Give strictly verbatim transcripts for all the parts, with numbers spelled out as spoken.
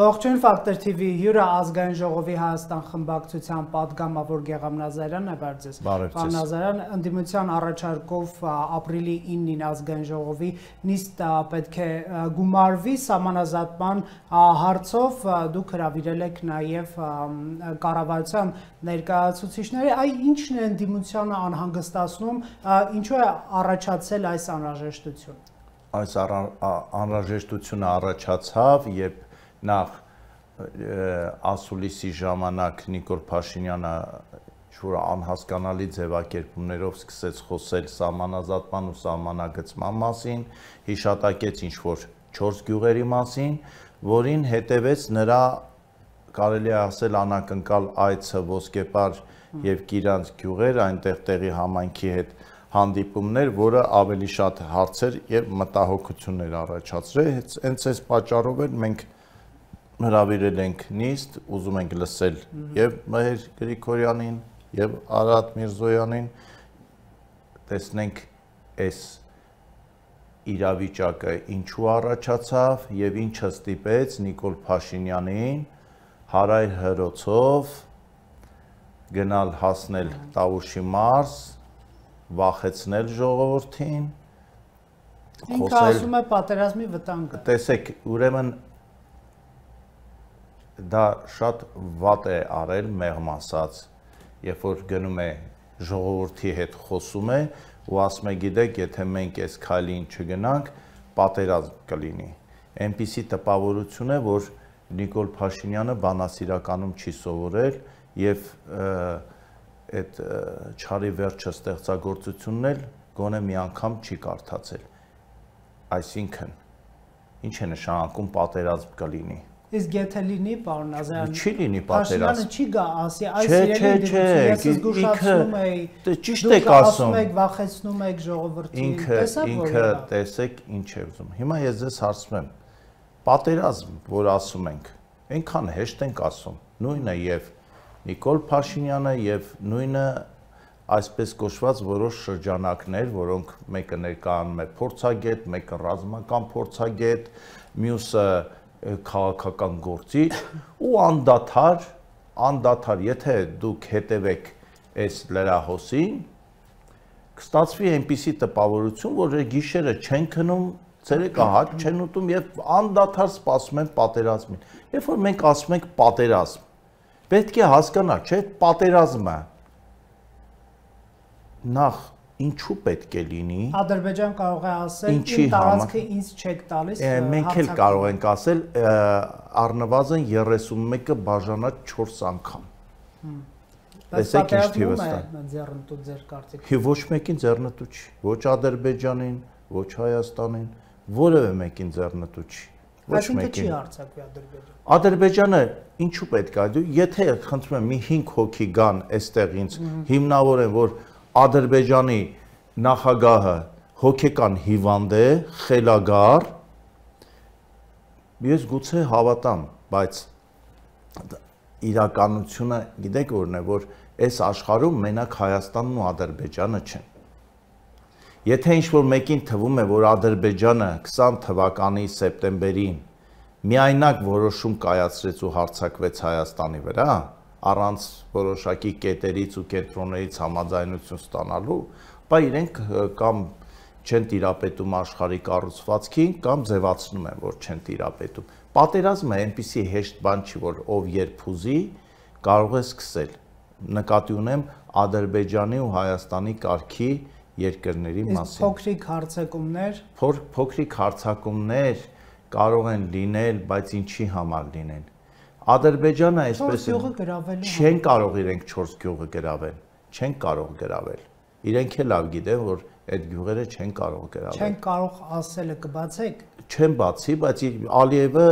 Ողջույն Ֆակտոր Թի Վի հյուրը ազգային ժողովի Հայաստան խմբակցության պատգամավոր Գեգամ Նազարյանն է բարձր։ Պարոն Նազարյան, ընդդիմության առաջարկով ապրիլի իննին ազգային ժողովի նիստ պետք է գումարվի սահմանազատման հարցով, դուք հրավիրել եք նաև կառավարության ներկայացուցիչների, այ ինչն է ընդդիմությանը անհանգստացնում, ինչու է առաջացել այս անհրաժեշտությունը։ Այս անհրաժեշտությունը առաջացավ, երբ նախ ասուլիսի ժամանակ Նիկոլ Փաշինյանը որ անհասկանալի ձևակերպումներով սկսեց խոսել սահմանազատման ու սահմանագծման մասին, հիշատակեց ինչ-որ չորս գյուղերի մասին, որին հետևեց նրա, կարելի է ասել, անակնկալ այցը Ոսկեպար եւ Կիրանց գյուղեր, այնտեղ տեղի համայնքի հետ հանդիպումներ, որը ավելի շատ հարցեր եւ մտահոգություններ առաջացրեց, հենց այս պատճառով էլ մենք հրավիրել ենք նիստ, ուզում ենք լսել եւ Մհեր Գրիգորյանին եւ Արադ Միրզոյանին, տեսնենք այս իրավիճակը ինչու առաջացավ եւ ինչը ստիպեց Նիկոլ Փաշինյանին հարայր հրոցով գնալ հասնել Տավուշի մարզ, վախեցնել ժողովրդին, ինքը ասում է պատերազմի վտանգ։ Տեսեք, ուրեմն դա շատ վատ է արել, մեղմ ասած, երբ որ գնում է ժողովրդի հետ խոսում է ու ասում է, գիտեք, եթե մենք այս քայլին չգնանք, պատերազմ կլինի։ Այնպիսի տպավորություն է, որ Նիկոլ Փաշինյանը բանասիրականում չի սովորել եւ այդ չարի վերջը ստեղծագործությունն էլ գոնե մի անգամ չի կարդացել։ Այսինքն, ինչ է նշանակում պատերազմ կլինի։ Իսկ եթե լինի, պարոն Նազարյան, չի լինի պատերազմ։ Փաշինյանը չի գա ասի, այս իրեն ես զգուշացնում էի, ճիշտ եք ասում, ասում եք, վախեցնում եք ժողովրդին, տեսա՞ք որ ինքը տեսեք ինչ է ուզում։ Հիմա ես ձեզ հարցնում եմ, պատերազմ, որ ասում ենք, այնքան հեշտ ենք ասում, նույնը եւ Նիկոլ Փաշինյանը եւ նույնը այսպես կոչված որոշ շրջանակներ, որոնք մեկը ներկայանում է փորձագետ, մեկը ռազմական փորձագետ, մյուսը քաղաքական գործիչ ու անդադար, անդադար, եթե դուք հետևեք այս լրահոսին, կստացվի այնպիսի տպավորություն, որ գիշերը չեն քնում, ցերեկը հաց չեն ուտում եւ անդադար սպասում են պատերազմին։ Երբ որ մենք ասում ենք պատերազմ, պետք է հասկանալ, չէ՞, պատերազմը նախ ինչու պետք է լինի։ Ադրբեջան կարող է ասել, իմ տարածքը ինձ չեք տալիս։ Մենք էլ կարող ենք ասել, առնվազն երեսունմեկը բաժանած չորս անգամ։ Տեսեք ինչ թիվը ստա։ Ձեռնտու ձեր կարծիքով։ Ոչ մեկին ձեռնտու չի, ոչ Ադրբեջանին, ոչ Հայաստանին, որևէ մեկին ձեռնտու չի։ Ոչ մեկին։ Չի արձակվի Ադրբեջանը։ Ադրբեջանը ինչու պետք է, եթե խնդրում եմ մի հինգ հոգի գան այստեղ ինձ հիմնավորեն, որ Ադրբեջանի նախագահը հոգեկան հիվանդ է, խելագար, ես գուցե հավատամ, բայց իրականությունը գիտեք որն է, որ այս աշխարհում մենակ Հայաստանն ու Ադրբեջանը չեն։ Եթե ինչ-որ մեկին թվում է, որ Ադրբեջանը քսան թվականի սեպտեմբերին միայնակ որոշում կայացրեց ու հարձակվեց Հայաստանի վրա, առանց որոշակի կետերից ու կենտրոններից համաձայնություն ստանալու, բայց իրենք կամ չեն տիրապետում աշխարհի կառուցվածքին, կամ ձևացնում են, որ չեն տիրապետում։ Պատերազմը այնպիսի հեշտ բան չի, որ ով երբ ուզի կարող է սկսել։ Նկատի ունեմ Ադրբեջանի ու Հայաստանի կարգի երկրների մասին։ Փոքրիկ հարձակումներ, փոքրիկ հարձակումներ կարող են լինել, բայց ինչի համար լինեն։ Ադրբեջանը այսպես չեն կարող իրենք չորս գյուղը գրավել, չեն կարող գրավել։ Իրենք էլ լավ գիտեն, որ այդ գյուղերը չեն կարող գրավել։ Չեն կարող ասելը կբացեք։ Չեն բացի, բայց Ալիևը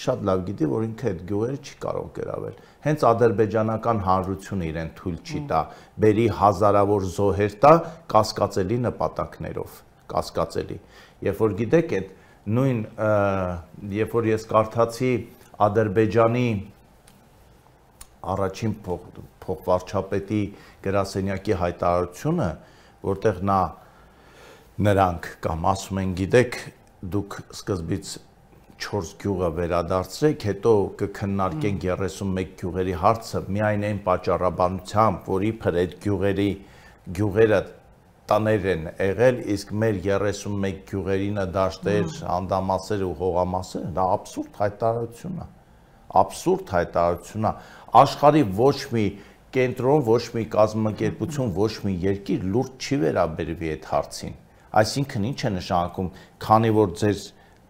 շատ լավ գիտի, որ ինքը այդ գյուղերը չի կարող գրավել։ Հենց ադրբեջանական հանրությունը իրեն թույլ չի տա, բերի հազարավոր զոհեր տա կասկածելի նպատակներով, կասկածելի։ Երբ որ գիտեք, այդ նույն երբ որ ես կարդացի Ադրբեջանի առաջին փոխվարչապետի գրասենյակի հայտարարությունը, որտեղ նա նրանք կամ ասում են, գիտեք, դուք սկզբից չորս գյուղը վերադարձրեք, հետո կքննարկենք երեսունմեկ գյուղերի հարցը միայն այն պատճառաբանությամբ, որ իբր այդ գյուղերի գյուղերը տաներ են եղել, իսկ մեր երեսունմեկ գյուղերինը դաշտեր, անդամասեր ու հողամասեր, դա աբսուրդ հայտարարություն է, աբսուրդ հայտարարություն է, աշխարհի ոչ մի կենտրոն, ոչ մի կազմակերպություն, ոչ մի երկիր լուրջ չի վերաբերվի այդ հարցին, այսինքն ինչ է նշանակում, քանի որ ձեր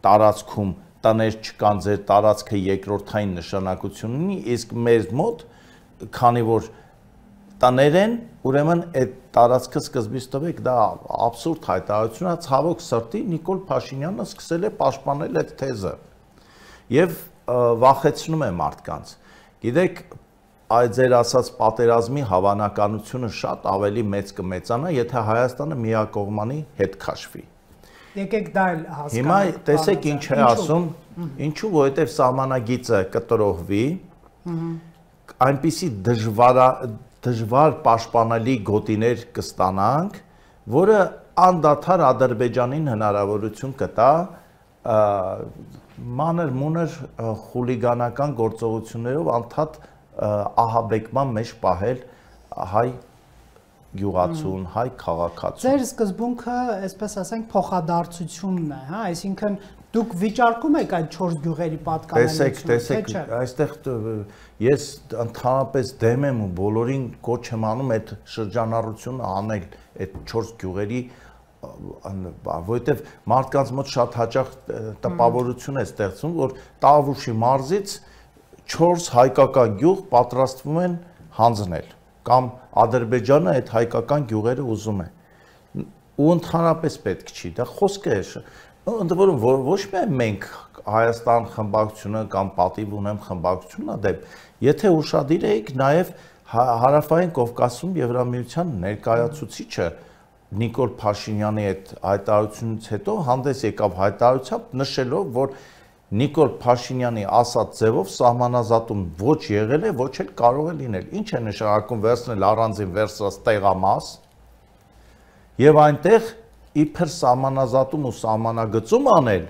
տարածքում տներ չկան, ձեր տարածքը երկրորդային նշանակություն ունի, իսկ մեր մոտ, քանի որ տներ են, ուրեմն այդ տարածքը սկզբից տվեք, դա աբսուրդ հայտարարություն է, ցավոք սրտի Նիկոլ Փաշինյանը սկսել է պաշտպանել այդ թեզը եւ վախեցնում է մարդկանց։ Գիտեք, այդ ձեր ասած պատերազմի հավանականությունը շատ ավելի մեծ կմեծանա, եթե Հայաստանը միակողմանի հետ քաշվի։ Եկեք դա էլ հասկանանք։ Հիմա տեսեք ինչ է ասում, ինչու, որովհետև սահմանագիծը կտրողվի, այնպիսի դժվար պաշտպանելի գոտիներ կստանանք, որը անդադար Ադրբեջանին հնարավորություն կտա մանր-մունր խուլիգանական գործողություններով անդադ ահաբեկման մեջ պահել հայ գյուղացուն, հայ քաղաքացուն։ Ձեր սկզբունքը, այսպես ասենք, փոխադարձությունն է, հա, այսինքն դուք վիճարկում եք այդ չորս գյուղերի պատկանելիությունը։ Տեսեք, տեսեք, այստեղ ես ընդհանրապես դեմ եմ ու բոլորին կոչ եմ անում այդ շրջանառությունը անել այդ չորս գյուղերի, որովհետև մարդկանց մոտ շատ հաճախ տպավորություն է ստեղծում, որ Տավուշի մարզից չորս հայկական գյուղ պատրաստվում են հանձնել կամ Ադրբեջանը այդ հայկական գյուղերը ուզում է ու ընդհանրապես պետք չի, դա խոսքը է, ընդ որում ոչ միայն մենք Հայաստան խմբակցությունը կամ պատիվ ունեմ խմբակցությունն դեպ, եթե ուշադիր եք, նաև Հարավային Կովկասում Եվրամիության ներկայացուցիչը Նիկոլ Փաշինյանի այդ հայտարարությունից հետո հանդես եկավ հայտարարությամբ նշելով, որ Նիկոլ Փաշինյանի ասած ձևով սահմանազատում ոչ եղել է, ոչ էլ կարող է լինել։ Ինչ է նշանակում վերցնել առանձին վերցրած տեղամաս եւ այնտեղ իբր սահմանազատում ու սահմանագծում անել,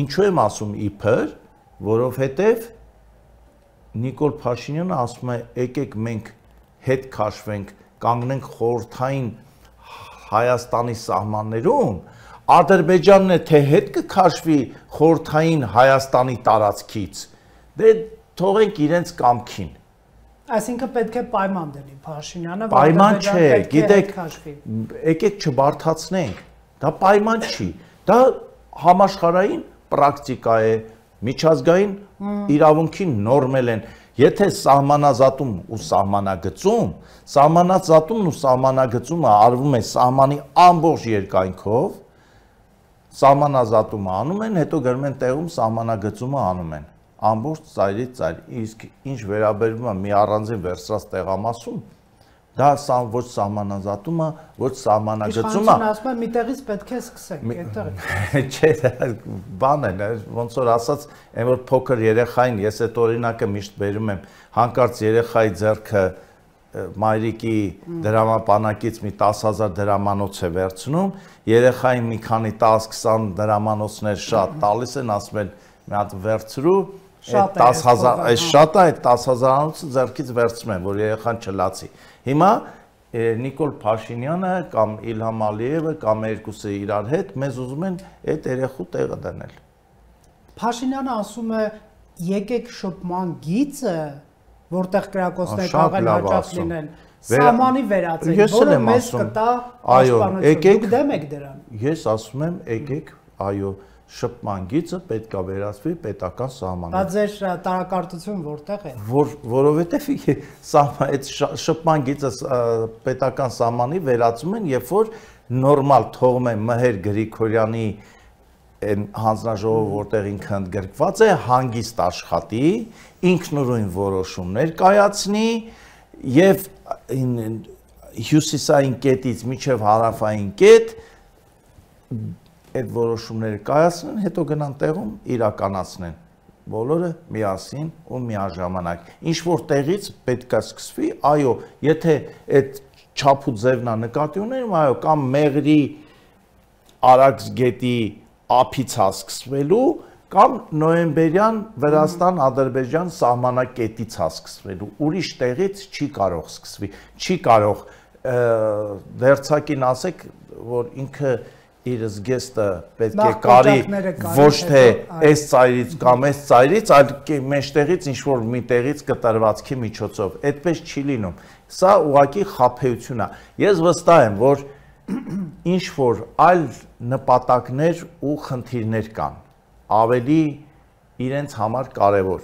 ինչու եմ ասում իբր, որովհետեւ Նիկոլ Փաշինյանը ասում է, եկեք մենք հետ քաշվենք, կանգնենք խորհրդային Հայաստանի սահմաններում, Ադրբեջանն է թե հետ կքաշվի խորհրդային Հայաստանի տարածքից, դե թողենք իրենց կամքին։ Այսինքն պետք է պայման դնի Փաշինյանը, պայման չէ, գիտեք, եկեք չբարթացնենք, դա պայման չի, դա համաշխարհային պրակտիկա է, միջազգային իրավունքի նորմեր են, եթե սահմանազատում ու սահմանագծում, սահմանազատումն ու սահմանագծումը արվում է սահմանի ամբողջ երկայնքով, սահմանազատումը անում են, հետո գրում են տեղում սահմանագծումը անում են, ամբողջ ծայրից ծայր, իսկ ինչ վերաբերվում է մի առանձին վերցրած տեղամասում, դա ոչ սահմանազատումը, ոչ սահմանագծումը։ Իշխանությունը ասում է, միտեղից պետք է սկսենք, այդտեղ։ Չէ, բան է, ոնց որ ասած, այն որ փոքր երեխային, ես այդ օրինակը միշտ բերում եմ, հանկարծ երեխայի ձեռքը մայրիկի դրամապանակից մի տասը հազար դրամանոց է վերցնում, երեխային մի քանի տասը-քսան դրամանոցներ շատ տալիս են, ասում են մի հատ վերցրու, տասը հազար, այս շատ է, այդ տասը հազարանոցը ձեռքից վերցնում են, որ երեխան չլացի։ Հիմա Նիկոլ Փաշինյանը կամ Իլհամ Ալիևը կամ երկուսը իրար հետ մեզ ուզում են այդ երեխու տեղը դնել։ Փաշինյանը ասում է, եկեք շփման գիծը, որտեղ կրակոցներ կարող են հաճախ լինեն, սահմանի վերածենք, որը մեզ կտա պաշտպանություն։ Դուք դեմ եք դրան։ Ես ասում եմ, եկեք, այո, շփման գիծը պետք է վերածվի պետական սահմանին։ Դա ձեր տարակարծություն որտեղ է։ Որ որովհետև այդ շփման գիծը պետական սահմանի վերածում են, երբ որ նորմալ թողում են Մհեր Գրիգորյանի այն հանձնաժողովը, որտեղ ինքը ընդգրկված է, հանգիստ աշխատի, ինքնուրույն որոշումներ կայացնի եւ հյուսիսային կետից մինչև հարավային կետ այդ որոշումները կայացնեն, հետո գնան տեղում իրականացնեն։ բոլորը միասին ու միաժամանակ։ Ինչ որ տեղից պետք է սկսվի, այո, եթե այդ չափ ու ձևն է նկատի ունենում, այո, կամ Մեղրի Արաքս գետի ափից է սկսվելու, կամ նոյեմբերյան Վրաստան-Ադրբեջան սահմանակետից է սկսվելու, ուրիշ տեղից չի կարող սկսվի, չի կարող դերձակին ասեք, որ ինքը իր զգեստը պետք է կարի ոչ թե այս ծայրից կամ այս ծայրից, այլ մեջտեղից ինչ-որ մի տեղից կտրվածքի միջոցով, այդպես չի լինում, սա ուղղակի խաբեություն է, ես վստահ եմ, որ ինչ-որ այլ նպատակներ ու խնդիրներ կան, ավելի իրենց համար կարևոր,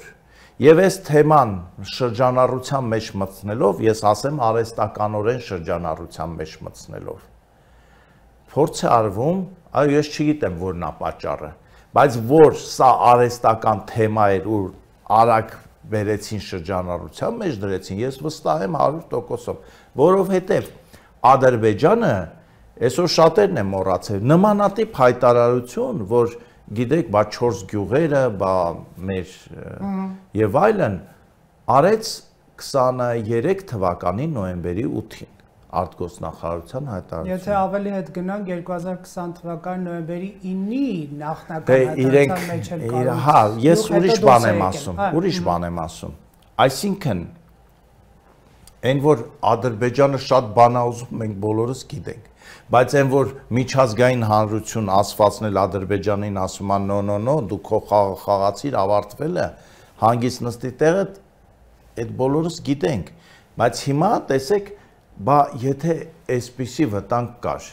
և այս թեման շրջանառության մեջ մտցնելով, ես ասեմ արհեստականորեն շրջանառության մեջ մտցնելով, փորձ է արվում, այո, ես չգիտեմ որն է պատճառը, բայց որ սա արհեստական թեմա էր ու արագ բերեցին շրջանառության մեջ դրեցին, ես վստահ եմ հարյուր տոկոսով, որովհետև Ադրբեջանը այսօր շատերն են մոռացել, նմանատիպ հայտարարություն, որ գիտեք, բա չորս գյուղերը, բա մեր եւ այլն, արեց քսաներեք թվականի նոյեմբերի ութին արտգործնախարարության հայտարարություն։ Եթե ավելի հետ գնանք երկու հազար քսան թվականի նոյեմբերի ինի նախնական հայտարարության մեջ էլ կարող։ Հա, ես ուրիշ բան եմ ասում, ուրիշ բան եմ ասում։ Այսինքն այն որ Ադրբեջանը շատ բան է ուզում, մենք բոլորս գիտենք, բայց այն որ միջազգային հանրություն ասվածնել Ադրբեջանին ասում է նո նո նո, դու քո խաղը խաղացիր, ավարտվել է, հանգիստ նստի տեղը, այդ բոլորս գիտենք, բայց հիմա տեսեք, բա եթե այսպիսի վտանգ կար,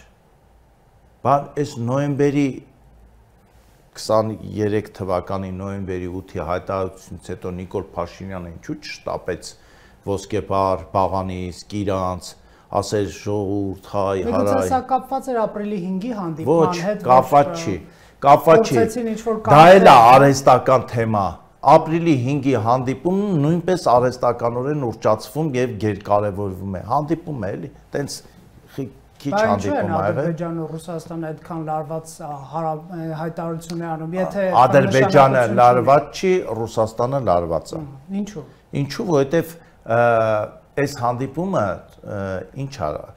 բա այս նոյեմբերի քսաներեք թվականի նոյեմբերի ութի հայտարարությունից հետո Նիկոլ Փաշինյանը ինչու չշտապեց ոսկեպար, բաղանիսկ, իրանց, ասեր ժողովուրդ, հայ, հարայ։ Միգուցե սա կապված էր ապրիլի հինգի հանդիպման հետ, ոչ, կապված չի, կապված չի, դա էլ է արհեստական թեմա, ապրիլի հինգի հանդիպումը նույնպես արհեստականորեն ուռճացվում և գերկարևորվում է, հանդիպում է էլի, տենց քիչ հանդիպում ա եղել։ Ադրբեջանը ու Ռուսաստանը այդքան լարված հայտարարություն է անում, եթե Ադրբեջանը լարված չի, Ռուսաստանը լարված է։ Ինչու՞։ Ինչու, որովհետև այս հանդիպումը ինչ արա,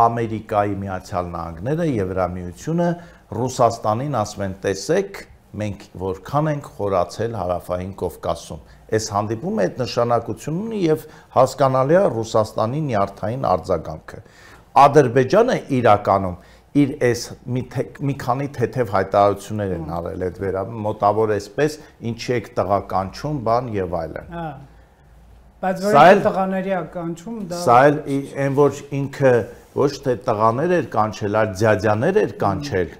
Ամերիկայի Միացյալ Նահանգները, Եվրամիությունը Ռուսաստանին ասում են տեսեք, մենք որքան ենք խորացել Հարավային Կովկասում։ Այս հանդիպումը այդ նշանակություն ունի և հասկանալի է Ռուսաստանի նյարդային արձագանքը։ Ադրբեջանը իրականում իր այս մի քանի թեթև հայտարարություններ են արել այդ վերաբերյալ, մոտավոր այսպես, ինչի եք տղականչում, բան եւ այլն։ Բայց որ տղաների է կանչում, դա Սա էլ այն որ ինքը ոչ թե տղաներ էր կանչել, այլ ձյաձյաներ էր կանչել,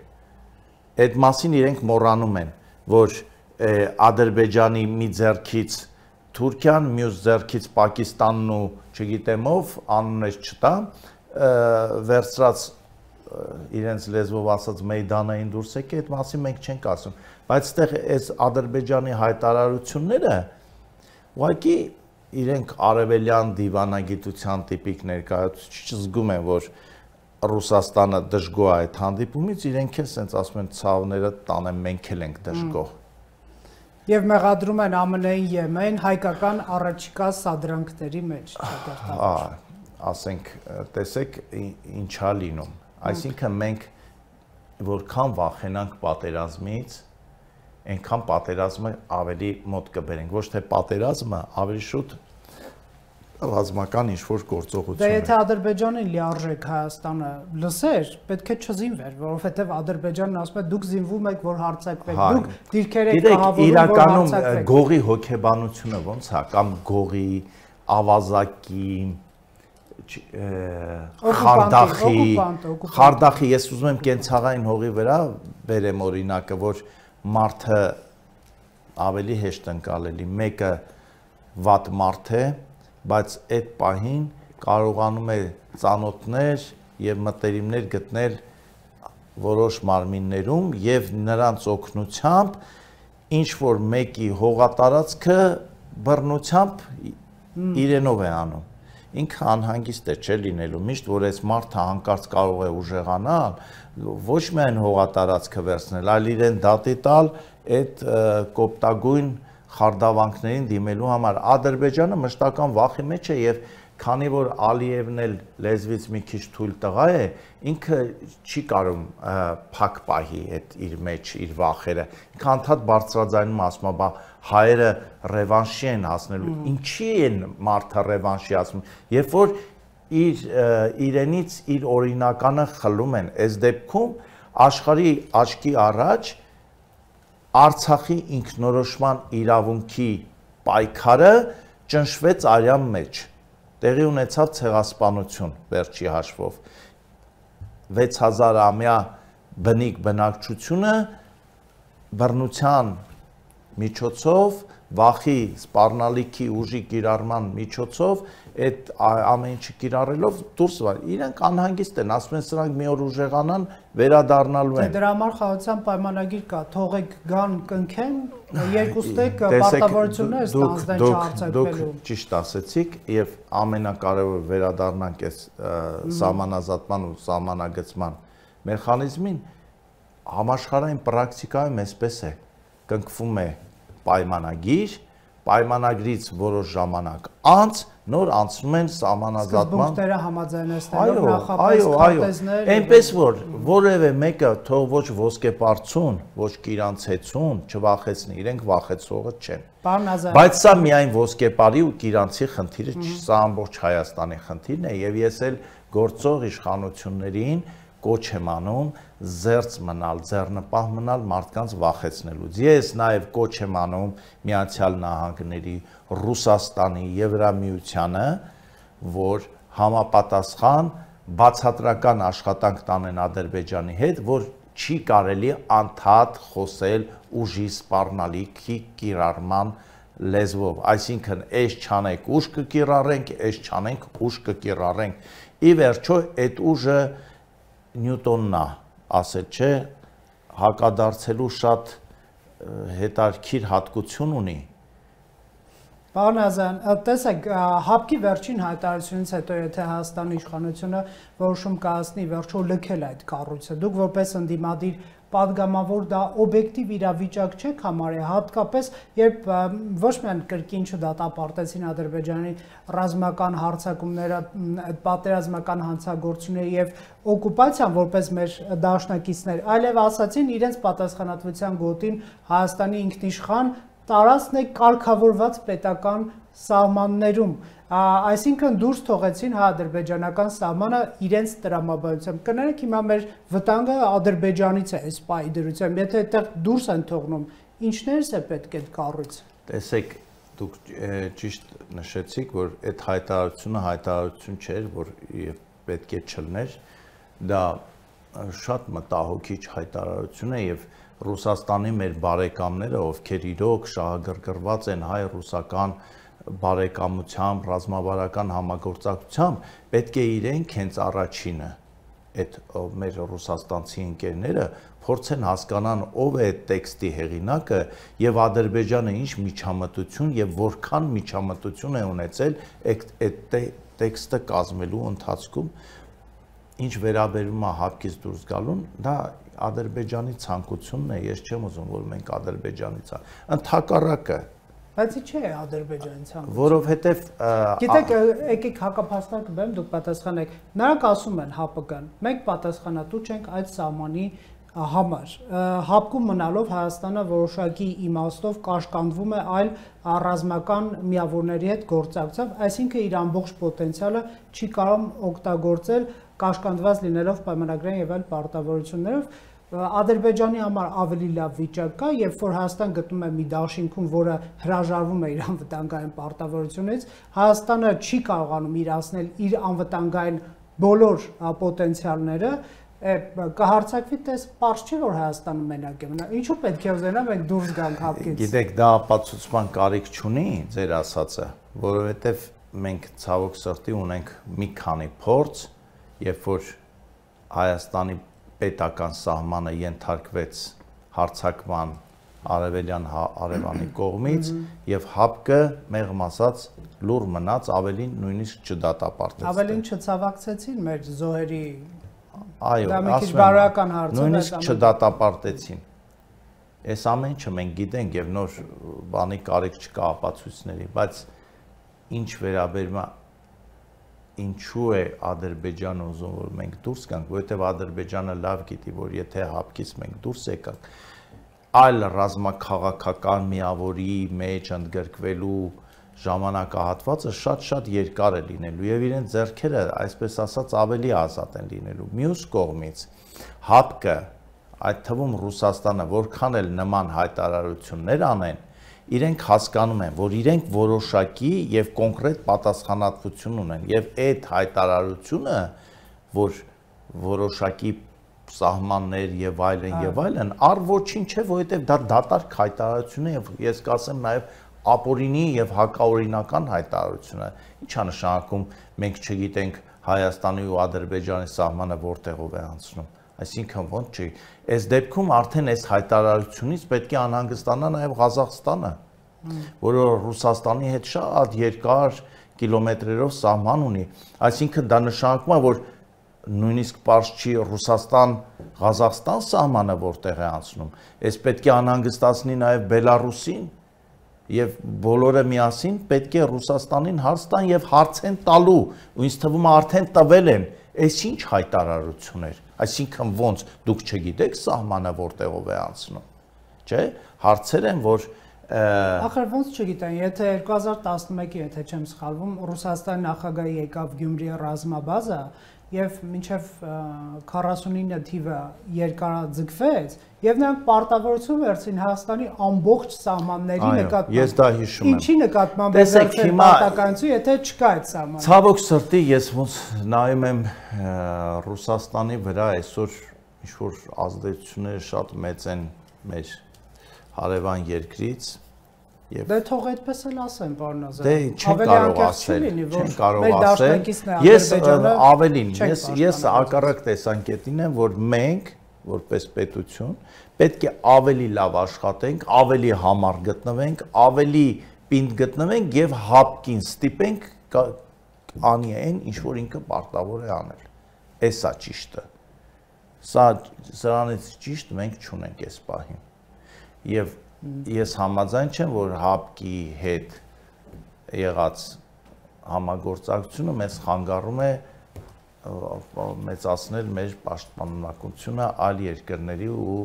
այդ մասին իրենք մոռանում են, որ Ադրբեջանի մի ձեռքից Թուրքիան, մյուս ձեռքից Պակիստանն ու չգիտեմ ով, անուններ չտամ, վերցրած իրենց լեզվով ասած մեյդանային դուրս եկե, այդ մասին մենք չենք ասում, բայց այդտեղ այս Ադրբեջանի հայտարարությունները ուղղակի իրենք արևելյան դիվանագիտության տիպիկ ներկայացուցիչ զգում են, որ Ռուսաստանը դժգոհ է այդ հանդիպումից, իրենք էլ սենց ասում են ցավները տանեն, մենք էլ ենք դժգոհ։ Եվ մեղադրում են ԱՄՆ-ին Եմեն հայկական առաջիկա սադրանքների մեջ, Հա, ասենք, տեսեք ինչա լինում։ Այսինքն մենք որքան վախենանք պատերազմից, այնքան պատերազմը ավելի մոտ կբերենք, ոչ թե պատերազմը ավելի շուտ ռազմական ինչ-որ գործողություն է։ Դե եթե Ադրբեջանին լիարժեք Հայաստանը լսեր, պետք է չզինվեր, որովհետև Ադրբեջանն ասում է դուք զինվում եք, որ հարձակվեք, դուք դիրքեր եք կահավորում, որ հարձակվեք։ Իրականում գողի հոգեբանությունը ոնց է, կամ գողի, ավազակի, խարդախի, խարդախի, ես ուզում եմ կենցաղային հողի վրա բերեմ օրինակը, որ մարդը ավելի հեշտ ընկալելի, մեկը վատ մարդ է, բայց այդ պահին կարողանում է ծանոթներ և մտերիմներ գտնել որոշ մարմիններում և նրանց օգնությամբ ինչ-որ մեկի հողատարածքը բռնությամբ իրենով է անում։ Ինքը անհանգիստ է չէ լինելու, միշտ որ այս մարդը հանկարծ կարող է ուժեղանալ, ոչ միայն հողատարածքը վերցնել, այլ իրեն դատի տալ այդ կոպտագույն խարդավանքներին դիմելու համար։ Ադրբեջանը մշտական վախի մեջ է եւ քանի որ Ալիևն էլ լեզվից մի քիչ թույլ տղա է, ինքը չի կարող փակ պահի այդ իր մեջ իր վախերը։ Ինքը անդադ բարձրաձայնում ասում է, բա հայերը ռևանշի են հասնելու։ Ինչի են մարդը ռևանշի ասում։ Երբ որ իր իրենից իր օրինականը խլում են, այս դեպքում աշխարհի աչքի առաջ Արցախի ինքնորոշման իրավունքի պայքարը ճնշվեց արյան մեջ։ Տեղի ունեցավ ցեղասպանություն վերջի հաշվով։ վեց հազար ամյա բնիկ բնակչությունը բռնության միջոցով, վախի, սպառնալիքի ուժի կիրառման միջոցով, այդ ամեն ինչը կիրառելով դուրս վար։ Իրենք անհանգիստ են, ասում են սրանք մի օր ուժեղանան, վերադառնալու են։ Դրա համար խաղաղության պայմանագիր կա, թողեք գան կնքեն, երկուստեք պարտավորություններ ստանձնեն չհարցակվելու։ Դուք ճիշտ ասեցիք, եւ ամենակարևորը վերադառնանք այս սահմանազատման ու սահմանագծման մեխանիզմին, համաշխարհային պրակտիկայում այսպես է, կնքվում է պայմանագիր, պայմանագրից որոշ ժամանակ անց նոր անցնում են սահմանազատման սկզբունքները համաձայնեցնելով նախապես քարտեզներ, այնպես որ որևէ մեկը թող ոչ ոսկեպարծուն, ոչ կիրանցեցուն չվախեցնի, իրենք վախեցողը չեն։ Բայց սա միայն ոսկեպարի ու կիրանցի խնդիրը չի, սա ամբողջ Հայաստանի խնդիրն է եւ ես էլ գործող իշխանություններին կոչ եմ անում զերծ մնալ, ձեռնպահ մնալ մարդկանց վախեցնելուց։ Ես նաև կոչ եմ անում Միացյալ Նահանգների, Ռուսաստանի, Եվրամիությանը, որ համապատասխան բացատրական աշխատանք տանեն Ադրբեջանի հետ, որ չի կարելի անդադ խոսել ուժի սպառնալիքի կիրառման լեզվով, այսինքն այս չանենք ուժ կկիրառենք, այս չանենք ուժ կկիրառենք։ Ի վերջո այդ ուժը Նյուտոնն է ասել, չէ, հակադարձելու շատ հետաքրքիր հատկություն ունի։ Պարոն Ազարյան, տեսեք, հապկի վերջին հայտարարությունից հետո, եթե Հայաստանի իշխանությունը որոշում կայացնի վերջո լքել այդ կառույցը, դուք որպես ընդդիմադիր պատգամավոր դա օբյեկտիվ իրավիճակ չեք համարել, հատկապես երբ ոչ միայն կրկին չդատապարտեցին Ադրբեջանի ռազմական հարձակումները, պատերազմական հանցագործությունները եւ օկուպացիան որպես մեր դաշնակիցներ, այլև ասացին իրենց պատասխանատվության գոտին Հայաստանի ինքնիշխան տարածքն է կարգավորված պետական սահմաններում, այսինքն դուրս թողեցին հայ-ադրբեջանական սահմանը իրենց տրամաբանությամբ։ Կներեք հիմա մեր վտանգը Ադրբեջանից է այս պահի դրությամբ, եթե այդտեղ դուրս են թողնում, ինչներս է պետք այդ կառույցը։ Տեսեք, դուք ճիշտ նշեցիք, որ այդ հայտարարությունը հայտարարություն չէր, որ պետք է չլներ, դա շատ մտահոգիչ հայտարարություն է եւ Ռուսաստանի մեր բարեկամները, ովքեր իրոք շահագրգռված են հայ-ռուսական բարեկամությամբ, ռազմավարական համագործակցությամբ, պետք է իրենք հենց առաջինը, այդ մեր ռուսաստանցի ընկերները փորձեն հասկանան ով է այդ տեքստի հեղինակը եւ Ադրբեջանը ինչ միջամտություն եւ որքան միջամտություն է ունեցել այդ տեքստը կազմելու ընթացքում, ինչ վերաբերում է հապկից դուրս գալուն, դա Ադրբեջանի ցանկությունն է, ես չեմ ուզում, որ մենք Ադրբեջանից ընդհակառակը Բայց ի՞նչ է Ադրբեջանի ցանկությունը։ Որովհետև Գիտեք, եկեք հակապաստառ կբերեմ, դուք պատասխանեք։ Նրանք ասում են ՀԱՊԿ-ն, մենք պատասխանատու չենք այդ սահմանի համար։ ՀԱՊԿ-ում մնալով Հայաստանը որոշակի իմաստով կաշկանդվում է այլ ռազմական միավորների հետ գործակցությամբ, այսինքն իր ամբողջ պոտենցիալը չի կարող օգտագործել կաշկանդված լինելով պայմանագրային եւ այլ պարտավորություններով։ Ադրբեջանի համար ավելի լավ վիճակ կա, երբ որ Հայաստան գտնում է մի դաշինքում, որը հրաժարվում է իր անվտանգային պարտավորությունից, Հայաստանը չի կարողանում իրացնել իր անվտանգային բոլոր պոտենցիալները, կհարցակվի, տես պարզ չէ, որ Հայաստանը մենակ է մնա։ Ինչու պետք է ուզենա մենք դուրս գանք ՀԱՊԿ-ից։ Գիտեք, դա ապացուցման կարիք չունի, ձեր ասածը, որովհետև մենք ցավոք սրտի ունենք մի քանի փորձ, երբ որ Հայաստանի պետական սահմանը ենթարկվեց հարձակման արևելյան Արևանի կողմից եւ ՀԱՊԿ մեղմ ասած լուր մնաց, ավելին նույնիսկ չդատապարտեց։ Ավելին չցավակցեցին մեր զոհերի։ Այո, դա մի քիչ բարոյական հարց է, նույնիսկ չդատապարտեցին։ Այս ամեն ինչը մենք գիտենք եւ նոր բանի կարիք չկա ապացույցների, բայց ինչ վերաբերում է ինչու է Ադրբեջանը ուզում որ մենք դուրս գանք, որովհետեւ Ադրբեջանը լավ գիտի, որ եթե հապկից մենք դուրս եկանք, այլ ռազմաքաղաքական միավորի մեջ ընդգրկվելու ժամանակահատվածը շատ-շատ երկար է լինելու եւ իրեն ձեռքերը, այսպես ասած, ավելի ազատ են լինելու։ Մյուս կողմից հապկը, այդ թվում Ռուսաստանը, որքան էլ նման հայտարարություններ անեն, իրենք հասկանում են, որ իրենք որոշակի եւ կոնկրետ պատասխանատվություն ունեն եւ այդ հայտարարությունը, որ որոշակի սահմաններ եւ այլն եւ այլն, առ ոչինչ չէ, որովհետեւ դա դատարկ հայտարարություն է եւ ես կասեմ նաեւ ապօրինի եւ հակաօրինական հայտարարություն է։ Ինչա նշանակում մենք չգիտենք Հայաստանի ու Ադրբեջանի սահմանը որտեղով է անցնում։ Այսինքն ոնց չի, այս դեպքում արդեն այս հայտարարությունից պետք է անհանգստանա նաև Ղազախստանը, որը Ռուսաստանի հետ շատ երկար կիլոմետրերով սահման ունի, այսինքն դա նշանակում է, որ նույնիսկ պարզ չի Ռուսաստան-Ղազախստան սահմանը որտեղ է անցնում, այս պետք է անհանգստացնի նաև Բելարուսին եւ բոլորը միասին պետք է Ռուսաստանին հարց տան եւ հարց են տալու, ու ինձ թվում է արդեն տվել են, այս ինչ հայտարարություն էր։ Այսինքն ոնց դուք չգիտեք սահմանը որտեղով է անցնում, չէ՞։ Հարցեր են, որ ախր ոնց չգիտեն, եթե երկու հազար տասնմեկի, եթե չեմ սխալվում, Ռուսաստանի նախագահը եկավ Գյումրի ռազմաբազա եւ մինչեւ քառասունինը թիվը երկարաձգվեց եւ նրանք պարտավորություն վերցին Հայաստանի ամբողջ սահմանների նկատմամբ։ Ես դա հիշում եմ։ Ինչի նկատմամբ է վերցել պարտականություն, եթե չկա այդ սահմանը։ Ցավոք սրտի ես ոնց նայում եմ Ռուսաստանի վրա այսօր ինչ որ ազդեցությունները շատ մեծ են մեր հարևան երկրից եւ դե թող այդպես էլ ասեն, պարոն Ազարյան։ Դե չեն կարող ասել, չեն կարող ասել։ Ես ավելին, ես ես ակառակ տեսանկյունին եմ, որ մենք որպես պետություն պետք է ավելի լավ աշխատենք, ավելի համառ գտնվենք, ավելի պինդ գտնվենք եւ հապկին ստիպենք անի այն, ինչ որ ինքը պարտավոր է անել։ Էսա ճիշտը։ Սա սրանից ճիշտ մենք չունենք այս պահին։ Եվ ես համաձայն չեմ, որ հապկի հետ եղած համագործակցությունը մեզ խանգարում է մեծացնել մեր պաշտպանունակությունը այլ երկրների ու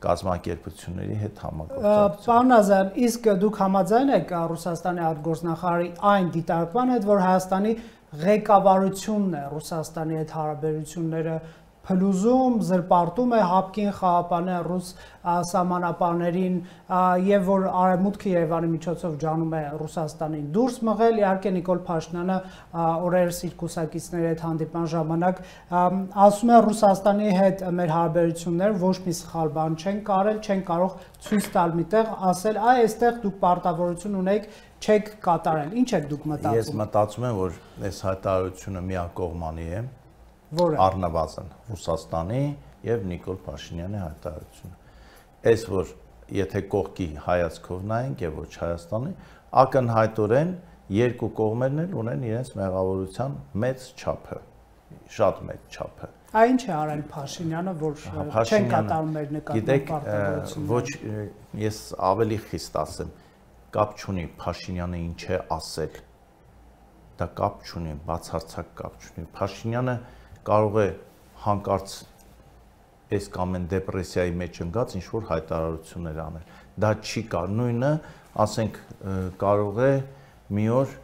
կազմակերպությունների հետ համագործակցություն։ Պարոն Ազարյան, իսկ դուք համաձայն եք Ռուսաստանի արտգործնախարարի այն դիտարկման հետ, որ Հայաստանի ղեկավարությունն է Ռուսաստանի հետ հարաբերությունները փլուզում, զրպարտում է հապկին խաղապանը ռուս սահմանապահներին եւ որ արևմուտքը Երևանի միջոցով ջանում է Ռուսաստանին դուրս մղել, իհարկե Նիկոլ Փաշինյանը օրերս իր կուսակիցների հետ հանդիպման ժամանակ ասում է Ռուսաստանի հետ մեր հարաբերությունները ոչ մի սխալ բան չեն կարել, չեն կարող ցույց տալ միտեղ, ասել այ այստեղ դուք պարտավորություն ունեք, չեք կատարել։ Ինչ եք դուք մտածում։ Ես մտածում եմ, որ այս հայտարարությունը միակողմանի է։ Որը առնվազն Ռուսաստանի եւ Նիկոլ Փաշինյանի հայտարարությունը։ Այս որ եթե կողքի հայացքով նայենք եւ ոչ Հայաստանի, ակնհայտորեն երկու կողմերն էլ ունեն իրենց մեղավորության մեծ չափը, շատ մեծ չափը։ Այն ինչ է արել Փաշինյանը, որ չեն կատարում մեր նկատմամբ պարտավորությունը։ Ոչ, ես ավելի խիստ ասեմ, կապ չունի Փաշինյանը ինչ է ասել։ Դա կապ չունի, բացարձակ կապ չունի։ Փաշինյանը կարող է հանկարծ այս կամ այն դեպրեսիայի մեջ ընկած ինչ որ հայտարարություններ անել։ Դա չի կա, նույնը, ասենք, կարող է մի օր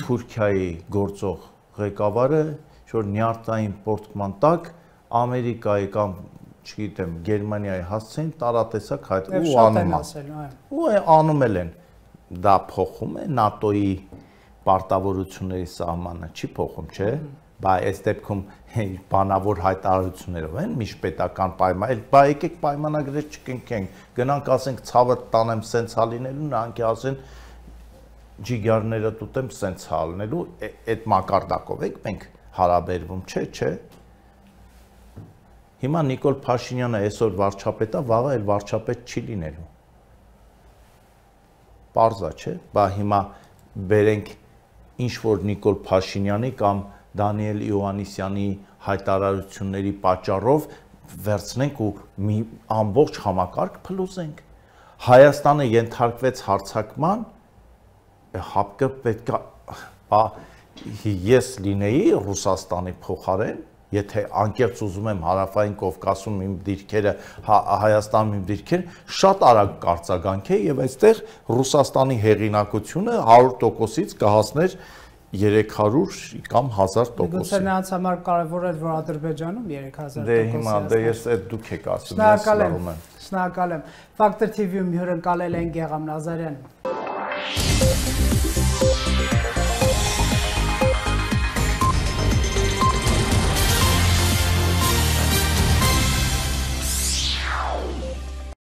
Թուրքիայի գործող ղեկավարը ինչ որ նյարդային պորտման տակ Ամերիկայի կամ, չգիտեմ, Գերմանիայի հասցեն տարատեսակ հայտ ու անում ու անում են։ Դա փոխում է ՆԱՏՕ-ի պարտավորությունների սահմանը, չի փոխում, չէ՞։ Բա այս դեպքում բանավոր հայտարարություններով են միջպետական պայման, բա եկեք պայմանագրեր չկնքենք, գնանք ասենք ցավը տանեմ սենց հալինելու, նրանք ասեն ջիգարները տուտեմ սենց հալնելու, այդ մակարդակով եք մենք հարաբերվում, չէ, չէ։ Հիմա Նիկոլ Փաշինյանը այսօր վարչապետ է, վաղը էլ վարչապետ չի լինելու։ Պարզ է, չէ, բա հիմա բերենք ինչ որ Նիկոլ Փաշինյանի կամ Դանիել Իոաննիսյանի հայտարարությունների պատճառով վերցնենք ու մի ամբողջ համակարգ փլուզենք։ Հայաստանը ենթարկվեց հարձակման, հապկը պետք է ես լինեի Ռուսաստանի փոխարեն, եթե անկեղծ ուզում եմ հարավային Կովկասում իմ դիրքերը, Հայաստանում իմ դիրքերը, շատ արագ կարձագանքեի եւ այստեղ Ռուսաստանի հեղինակությունը հարյուր տոկոսից կհասներ երեք հարյուր կամ հազար տոկոսի։ Գուցե նրանց համար կարևոր էր, որ Ադրբեջանում երեք հազար տոկոսի։ Դե հիմա դե ես այդ դուք եք ասում, ես լավում եմ։ Շնորհակալ եմ։ Ֆակտոր թի վի-ում հյուրընկալել են Գեգամ Նազարյանին։